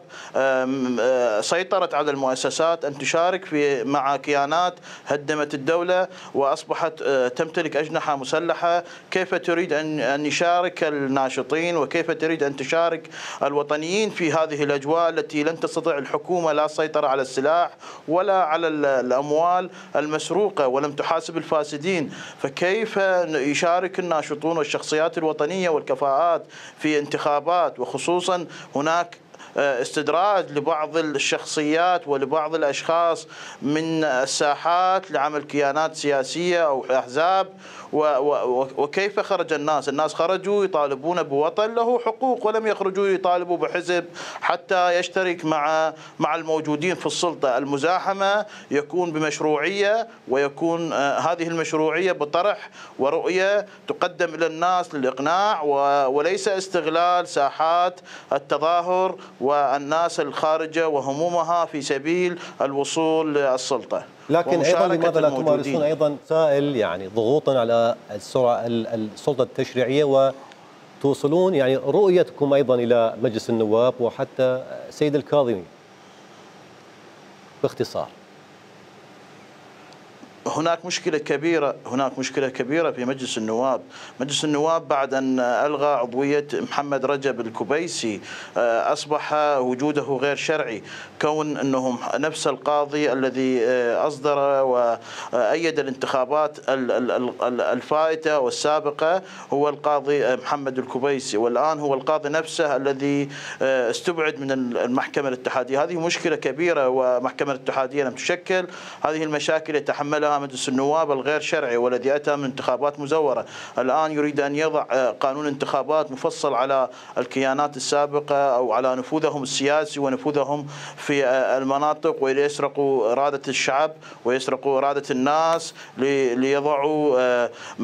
سيطرت على المؤسسات، أن تشارك مع كيانات هدمت الدولة وأصبحت تمتلك أجنحة مسلحة. كيف تريد أن يشارك الناشطين وكيف تريد أن تشارك الوطن الوطنيين في هذه الأجواء التي لن تستطيع الحكومة لا السيطرة على السلاح ولا على الأموال المسروقة ولم تحاسب الفاسدين، فكيف يشارك الناشطون والشخصيات الوطنية والكفاءات في انتخابات؟ وخصوصا هناك استدراج لبعض الشخصيات ولبعض الأشخاص من الساحات لعمل كيانات سياسية أو أحزاب. وكيف خرج الناس خرجوا يطالبون بوطن له حقوق، ولم يخرجوا يطالبوا بحزب حتى يشترك مع الموجودين في السلطة. المزاحمة يكون بمشروعية، ويكون هذه المشروعية بطرح ورؤية تقدم إلى الناس للإقناع، وليس استغلال ساحات التظاهر والناس الخارجة وهمومها في سبيل الوصول للسلطة. لكن أيضا لماذا لا تمارسون أيضا سائل يعني ضغوطا على السلطة التشريعية وتوصلون يعني رؤيتكم أيضا إلى مجلس النواب وحتى سيد الكاظمي باختصار؟ هناك مشكلة كبيرة في مجلس النواب. مجلس النواب بعد أن ألغى عضوية محمد رجب الكبيسي أصبح وجوده غير شرعي، كون أنهم نفس القاضي الذي أصدر وأيد الانتخابات الفائتة والسابقة هو القاضي محمد الكبيسي، والآن هو القاضي نفسه الذي استبعد من المحكمة الاتحادية. هذه مشكلة كبيرة، ومحكمة الاتحادية لم تشكل. هذه المشاكل يتحملها مجلس النواب الغير شرعي والذي أتى من انتخابات مزورة. الآن يريد أن يضع قانون انتخابات مفصل على الكيانات السابقة أو على نفوذهم السياسي ونفوذهم في المناطق، ويسرقوا إرادة الشعب ويسرقوا إرادة الناس ليضعوا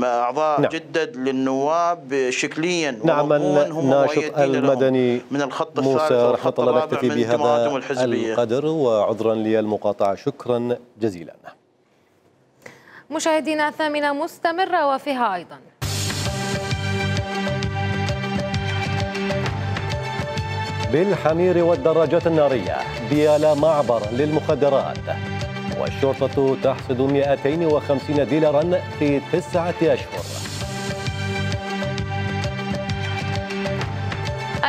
أعضاء جدد للنواب شكليا. نعم، الناشط المدني من الخط موسى رحمة الله نكتفي بهذا القدر، وعذرا للمقاطعة. شكرا جزيلا. مشاهدينا، 8 مستمرة وفيها أيضا بالحمير والدراجات النارية ديالى معبر للمخدرات، والشرطة تحصد 250 ديلارا في 9 أشهر.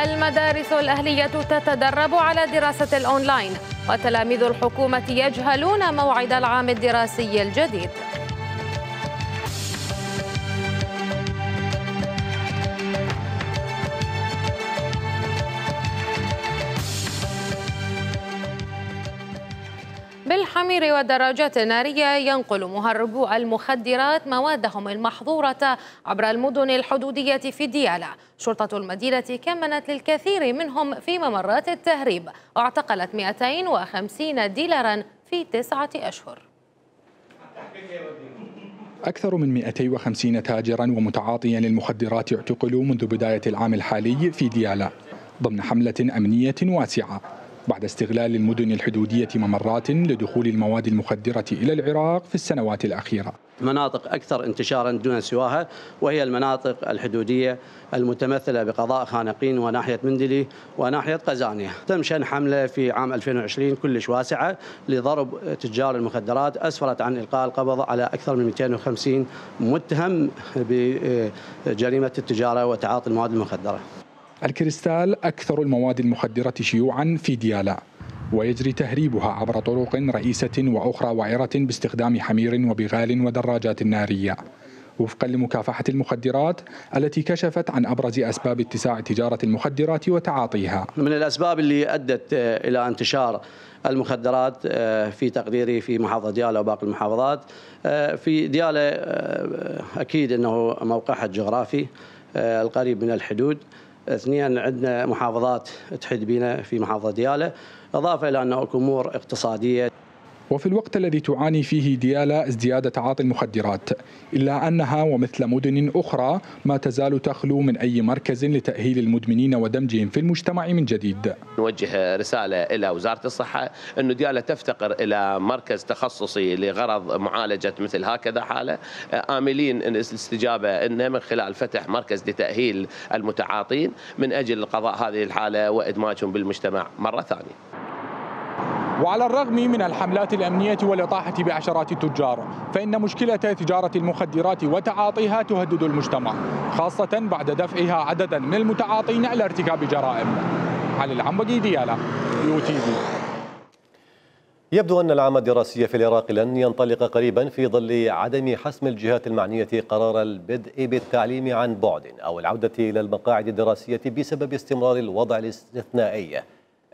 المدارس الأهلية تتدرب على دراسة الأونلاين، وتلاميذ الحكومة يجهلون موعد العام الدراسي الجديد. بالحمير والدراجات النارية ينقل مهربو المخدرات موادهم المحظورة عبر المدن الحدودية في ديالى. شرطة المدينة كمنت للكثير منهم في ممرات التهريب، واعتقلت 250 ديلارا في 9 أشهر. أكثر من 250 تاجرا ومتعاطيا للمخدرات اعتقلوا منذ بداية العام الحالي في ديالى ضمن حملة أمنية واسعة، بعد استغلال المدن الحدودية ممرات لدخول المواد المخدرة إلى العراق في السنوات الأخيرة. مناطق أكثر انتشارا دون سواها وهي المناطق الحدودية المتمثلة بقضاء خانقين وناحية مندلي وناحية قزانية. تم شن حملة في عام 2020 كلش واسعة لضرب تجار المخدرات، أسفرت عن إلقاء القبض على أكثر من 250 متهم بجريمة التجارة وتعاطي المواد المخدرة. الكريستال أكثر المواد المخدرة شيوعا في ديالى، ويجري تهريبها عبر طرق رئيسة وأخرى وعرة باستخدام حمير وبغال ودراجات نارية، وفقا لمكافحة المخدرات التي كشفت عن أبرز أسباب اتساع تجارة المخدرات وتعاطيها. من الأسباب اللي أدت إلى انتشار المخدرات في تقديري في محافظة ديالى وباقي المحافظات، في ديالى أكيد أنه موقعها الجغرافي القريب من الحدود، اثنين عندنا محافظات تحد بنا في محافظة ديالى، إضافة إلى أنه أمور اقتصادية. وفي الوقت الذي تعاني فيه ديالى ازدياد تعاطي المخدرات، إلا أنها ومثل مدن أخرى ما تزال تخلو من أي مركز لتأهيل المدمنين ودمجهم في المجتمع من جديد. نوجه رسالة إلى وزارة الصحة أنه ديالى تفتقر إلى مركز تخصصي لغرض معالجة مثل هكذا حالة، آملين الاستجابة إنه من خلال فتح مركز لتأهيل المتعاطين من أجل قضاء هذه الحالة وإدماجهم بالمجتمع مرة ثانية. وعلى الرغم من الحملات الأمنية والإطاحة بعشرات التجار، فإن مشكلة تجارة المخدرات وتعاطيها تهدد المجتمع، خاصة بعد دفعها عددا من المتعاطين إلى ارتكاب جرائم. علي العمودي، ديالا، UTV. يبدو أن العام الدراسي في العراق لن ينطلق قريبا في ظل عدم حسم الجهات المعنية قرار البدء بالتعليم عن بعد أو العودة إلى المقاعد الدراسية بسبب استمرار الوضع الاستثنائي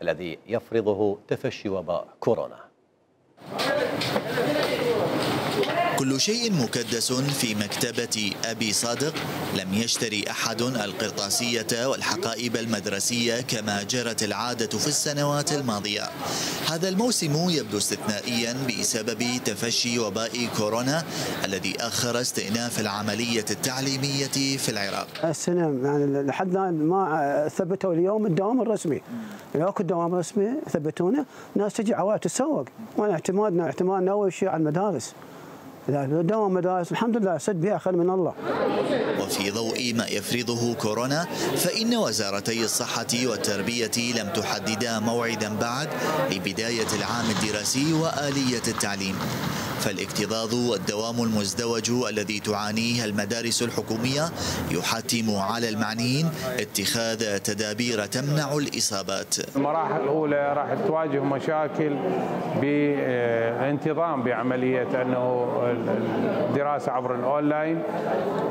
الذي يفرضه تفشي وباء كورونا. كل شيء مكدس في مكتبة أبي صادق. لم يشتري أحد القرطاسية والحقائب المدرسية كما جرت العادة في السنوات الماضية. هذا الموسم يبدو استثنائيا بسبب تفشي وباء كورونا الذي أخر استئناف العملية التعليمية في العراق. السنة يعني لحد ما ثبتوا اليوم الدوام الرسمي، لو اكو دوام رسمي ثبتونا، الناس تجي عوائل تتسوق، وانا اعتمادنا اول شيء على المدارس. دوام مدارس الحمد لله سد بها خير من الله. وفي ضوء ما يفرضه كورونا فإن وزارتي الصحة والتربية لم تحددا موعدا بعد لبداية العام الدراسي وآلية التعليم. فالاكتظاظ والدوام المزدوج الذي تعانيه المدارس الحكومية يحتم على المعنيين اتخاذ تدابير تمنع الإصابات. المراحل الأولى راح تواجه مشاكل بالانتظام بعملية أنه الدراسة عبر الأونلاين،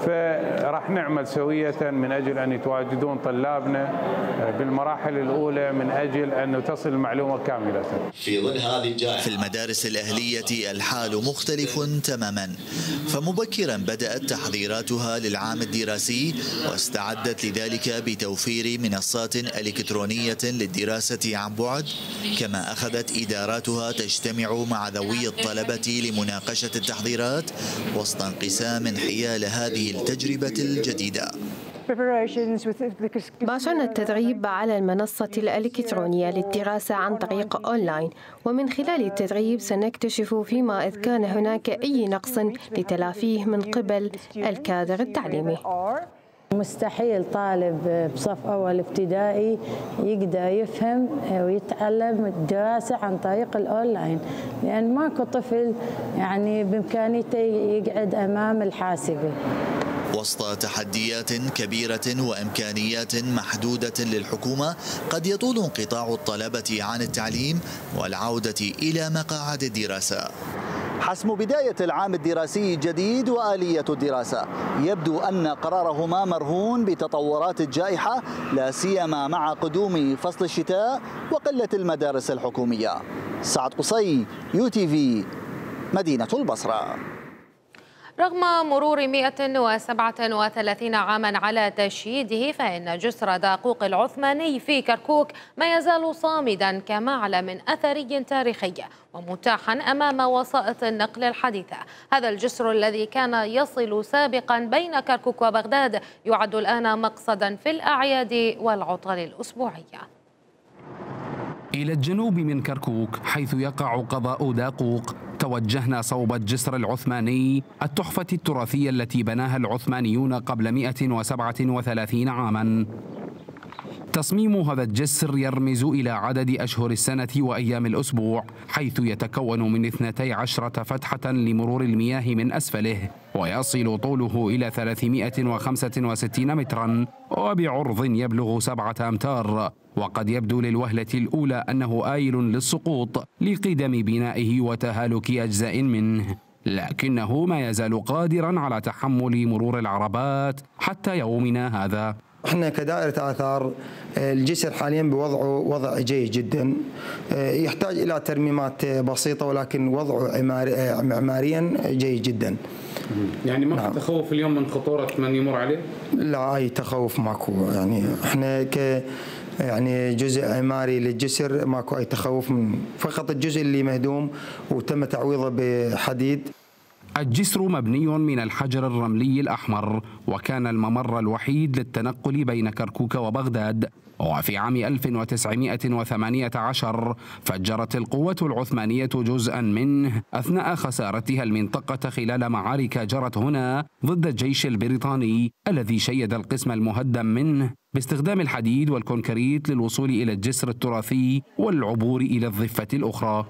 فراح نعمل سوية من أجل أن يتواجدون طلابنا بالمراحل الأولى من أجل أن تصل المعلومة كاملة. في ظل هذه الجائحة في المدارس الأهلية الحال مختلف تماما، فمبكرا بدأت تحضيراتها للعام الدراسي واستعدت لذلك بتوفير منصات إلكترونية للدراسة عن بعد، كما أخذت إداراتها تجتمع مع ذوي الطلبة لمناقشة التحضيرات وسط انقسام حيال هذه التجربة الجديدة. باشرنا التدريب على المنصة الإلكترونية للدراسة عن طريق أونلاين، ومن خلال التدريب سنكتشف فيما إذ كان هناك أي نقص لتلافيه من قبل الكادر التعليمي. مستحيل طالب بصف أول ابتدائي يقدر يفهم ويتعلم الدراسة عن طريق الأونلاين، لأن ماكو طفل يعني بإمكانيته يقعد أمام الحاسبة. وسط تحديات كبيرة وإمكانيات محدودة للحكومة، قد يطول انقطاع الطلبة عن التعليم والعودة إلى مقاعد الدراسة. حسم بداية العام الدراسي الجديد وآلية الدراسة يبدو أن قرارهما مرهون بتطورات الجائحة، لا سيما مع قدوم فصل الشتاء وقلة المدارس الحكومية. سعد قصي، UTV، مدينة البصرة. رغم مرور 137 عاما على تشييده، فإن جسر داقوق العثماني في كركوك ما يزال صامدا كمعلم أثري تاريخي ومتاحا أمام وسائط النقل الحديثة. هذا الجسر الذي كان يصل سابقا بين كركوك وبغداد يعد الآن مقصدا في الأعياد والعطل الأسبوعية. إلى الجنوب من كركوك حيث يقع قضاء داقوق توجهنا صوب الجسر العثماني، التحفة التراثية التي بناها العثمانيون قبل 137 عاما. تصميم هذا الجسر يرمز إلى عدد أشهر السنة وأيام الأسبوع، حيث يتكون من 12 فتحة لمرور المياه من أسفله، ويصل طوله إلى 365 مترا وبعرض يبلغ 7 أمتار. وقد يبدو للوهلة الأولى أنه آيل للسقوط لقدم بنائه وتهالك أجزاء منه، لكنه ما يزال قادرا على تحمل مرور العربات حتى يومنا هذا. احنا كدائرة آثار الجسر حاليا بوضعه وضع جيد جدا، يحتاج إلى ترميمات بسيطة ولكن وضعه معماريا جيد جدا. يعني ما في تخوف اليوم من خطورة من يمر عليه؟ لا، أي تخوف ماكو. يعني احنا يعني جزء عماري للجسر ماكو أي تخوف، من فقط الجزء اللي مهدوم وتم تعويضه بحديد. الجسر مبني من الحجر الرملي الأحمر، وكان الممر الوحيد للتنقل بين كركوك وبغداد. وفي عام 1918 فجرت القوة العثمانية جزءا منه أثناء خسارتها المنطقة خلال معارك جرت هنا ضد الجيش البريطاني الذي شيد القسم المهدم منه باستخدام الحديد والكونكريت للوصول إلى الجسر التراثي والعبور إلى الضفة الأخرى.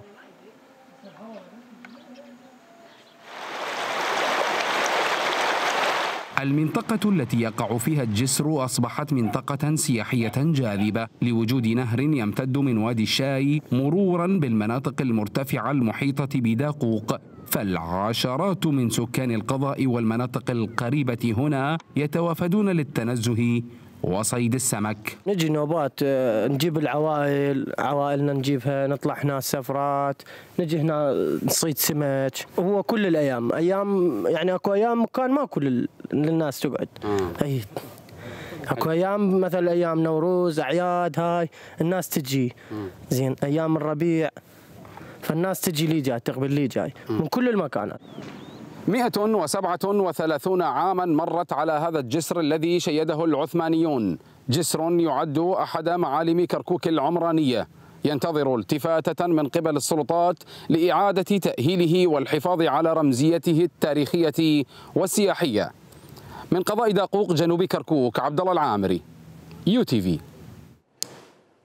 المنطقة التي يقع فيها الجسر أصبحت منطقة سياحية جاذبة لوجود نهر يمتد من وادي الشاي مرورا بالمناطق المرتفعة المحيطة بداقوق، فالعشرات من سكان القضاء والمناطق القريبة هنا يتوافدون للتنزه وصيد السمك. نجي نوبات نجيب العوائل، عوائلنا نجيبها، نطلع هنا سفرات، نجي هنا نصيد سمك. هو كل الايام، ايام يعني اكو ايام كان ما كل الناس تقعد. اي اكو ايام مثل ايام نوروز، اعياد، هاي الناس تجي. زين ايام الربيع فالناس تجي لي جاي، تقبل لي جاي من كل المكانات. 137 عاما مرت على هذا الجسر الذي شيده العثمانيون، جسر يعد أحد معالم كركوك العمرانية، ينتظر التفاتة من قبل السلطات لإعادة تأهيله والحفاظ على رمزيته التاريخية والسياحية. من قضاء داقوق جنوب كركوك، عبد الله العامري، UTV.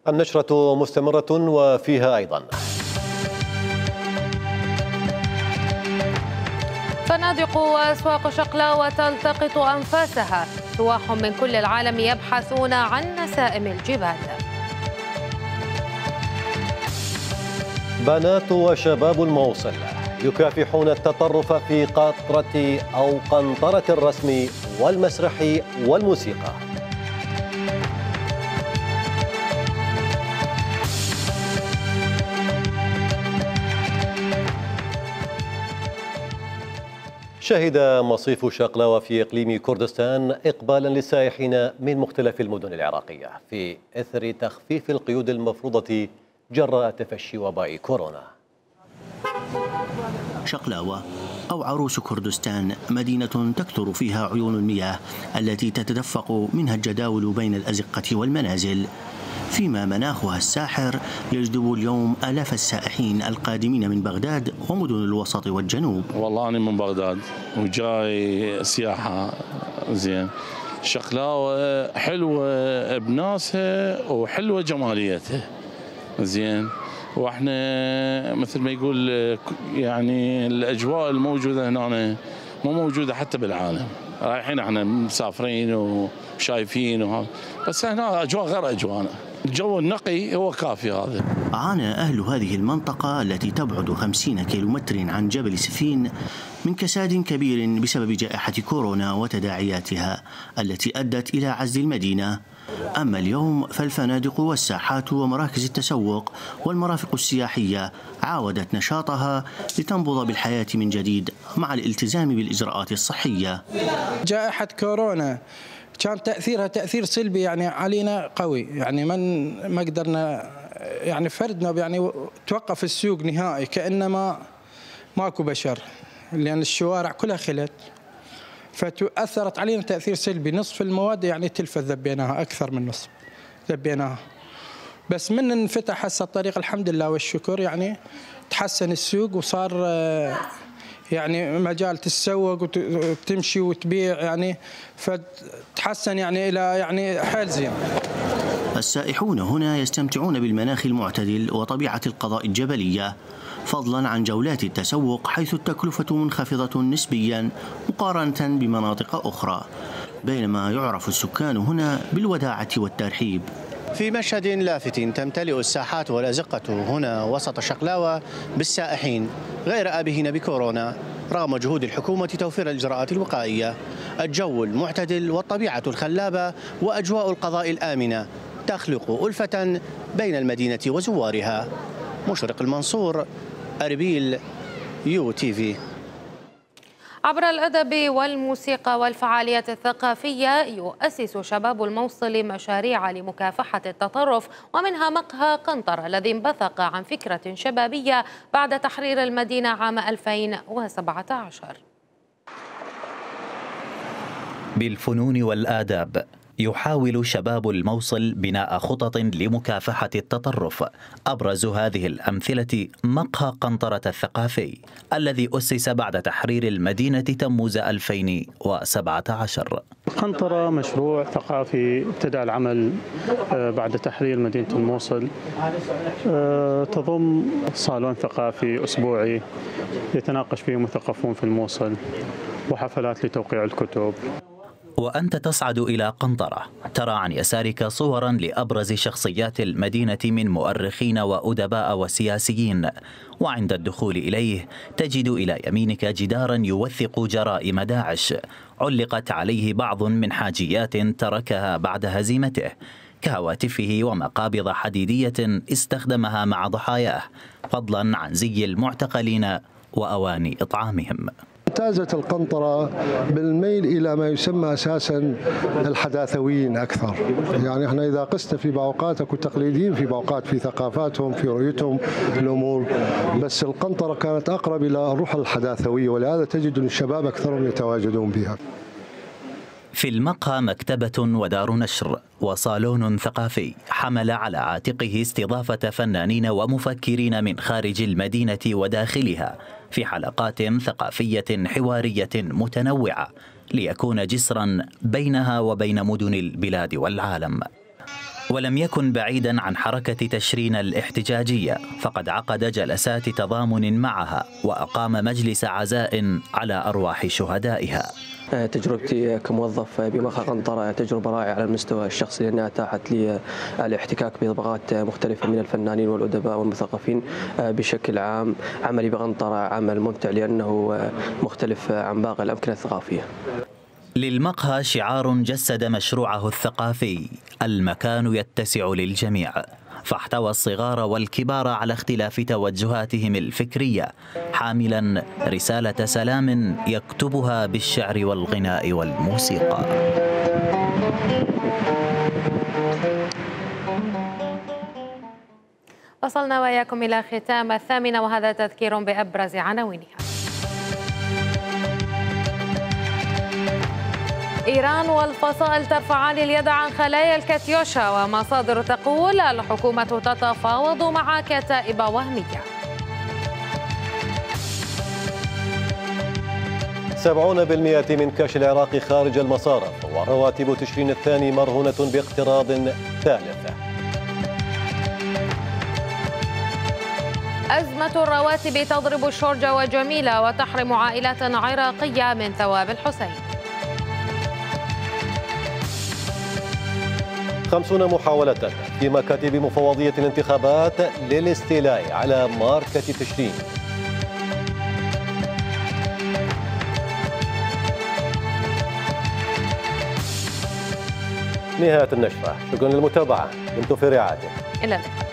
النشرة مستمرة وفيها أيضا: فنادق وأسواق شقلاوة تلتقط أنفاسها، سواح من كل العالم يبحثون عن نسائم الجبال. بنات وشباب الموصل يكافحون التطرف في قطرة أو قنطرة الرسم والمسرح والموسيقى. شهد مصيف شقلاوة في إقليم كردستان إقبالا للسائحين من مختلف المدن العراقية في إثر تخفيف القيود المفروضة جراء تفشي وباء كورونا. شقلاوة أو عروس كردستان مدينة تكثر فيها عيون المياه التي تتدفق منها الجداول بين الأزقة والمنازل، فيما مناخها الساحر يجذب اليوم آلاف السائحين القادمين من بغداد ومدن الوسط والجنوب. والله أنا من بغداد وجاي سياحة. زين شقلاوة حلوة بناسها وحلوة جماليتها. زين واحنا مثل ما يقول يعني الأجواء الموجودة هنا مو موجودة حتى بالعالم. رايحين احنا مسافرين وشايفين بس هنا أجواء غير أجواءنا. الجو النقي هو كافي هذا. عانى أهل هذه المنطقة التي تبعد 50 كيلومتر عن جبل سفين من كساد كبير بسبب جائحة كورونا وتداعياتها التي أدت إلى عزل المدينة. أما اليوم فالفنادق والساحات ومراكز التسوق والمرافق السياحية عاودت نشاطها لتنبض بالحياة من جديد مع الالتزام بالإجراءات الصحية. جائحة كورونا كان تأثيرها تأثير سلبي يعني علينا قوي، يعني ما قدرنا يعني فردنا يعني توقف السوق نهائي كأنما ماكو بشر، لأن الشوارع كلها خلت فتأثرت علينا تأثير سلبي. نصف المواد يعني تلفت ذبيناها، أكثر من نصف ذبيناها. بس من انفتح هسه الطريق الحمد لله والشكر يعني تحسن السوق وصار يعني مجال تتسوق وتمشي وتبيع يعني فتحسن يعني إلى يعني حيل زين. السائحون هنا يستمتعون بالمناخ المعتدل وطبيعة القضاء الجبلية، فضلا عن جولات التسوق حيث التكلفة منخفضة نسبيا مقارنة بمناطق أخرى، بينما يعرف السكان هنا بالوداعة والترحيب. في مشهد لافت تمتلئ الساحات والأزقة هنا وسط شقلاوة بالسائحين غير آبهين بكورونا رغم جهود الحكومة توفير الإجراءات الوقائية. الجو المعتدل والطبيعة الخلابة وأجواء القضاء الآمنة تخلق ألفة بين المدينة وزوارها. مشرق المنصور، أربيل، UTV. عبر الأدب والموسيقى والفعاليات الثقافية يؤسس شباب الموصل مشاريع لمكافحة التطرف، ومنها مقهى قنطرة الذي انبثق عن فكرة شبابية بعد تحرير المدينة عام 2017. بالفنون والآداب يحاول شباب الموصل بناء خطط لمكافحة التطرف. أبرز هذه الأمثلة مقهى قنطرة الثقافي الذي أسس بعد تحرير المدينة تموز 2017. قنطرة مشروع ثقافي ابتدأ العمل بعد تحرير مدينة الموصل، تضم صالون ثقافي أسبوعي يتناقش فيه مثقفون في الموصل وحفلات لتوقيع الكتب. وأنت تصعد إلى قنطرة ترى عن يسارك صورا لأبرز شخصيات المدينة من مؤرخين وأدباء وسياسيين، وعند الدخول إليه تجد إلى يمينك جدارا يوثق جرائم داعش علقت عليه بعض من حاجيات تركها بعد هزيمته، كهواتفه ومقابض حديدية استخدمها مع ضحاياه، فضلا عن زي المعتقلين وأواني إطعامهم. امتازت القنطرة بالميل إلى ما يسمى أساسا الحداثويين أكثر. يعني احنا إذا قست في باوقات أكو تقليديين في باوقات في ثقافاتهم في رؤيتهم الأمور، بس القنطرة كانت أقرب إلى الروح الحداثوية، ولهذا تجد الشباب أكثرهم يتواجدون بها. في المقهى مكتبة ودار نشر وصالون ثقافي حمل على عاتقه استضافة فنانين ومفكرين من خارج المدينة وداخلها في حلقات ثقافية حوارية متنوعة ليكون جسرا بينها وبين مدن البلاد والعالم. ولم يكن بعيدا عن حركة تشرين الاحتجاجية، فقد عقد جلسات تضامن معها وأقام مجلس عزاء على أرواح شهدائها. تجربتي كموظف بمقهى قنطرة تجربة رائعة على المستوى الشخصي، لأنها أتاحت لي الاحتكاك بطبقات مختلفة من الفنانين والأدباء والمثقفين بشكل عام. عملي بقنطرة عمل ممتع لأنه مختلف عن باقي الأمكنة الثقافية. للمقهى شعار جسد مشروعه الثقافي: المكان يتسع للجميع، فاحتوى الصغار والكبار على اختلاف توجهاتهم الفكرية، حاملا رسالة سلام يكتبها بالشعر والغناء والموسيقى. وصلنا وإياكم إلى ختام 8 وهذا تذكير بأبرز عناوينها. إيران والفصائل ترفعان اليد عن خلايا الكاتيوشا، ومصادر تقول الحكومة تتفاوض مع كتائب وهمية. 70% من كاش العراق خارج المصارف، ورواتب تشرين الثاني مرهونة باقتراض ثالث. أزمة الرواتب تضرب الشرجة وجميلة وتحرم عائلات عراقية من ثواب الحسين. 50 محاولة في مكاتب مفوضية الانتخابات للاستيلاء على ماركة تشرين. نهاية النشرة، شكرا للمتابعة، دمتم في رعاية. إلى اللقاء.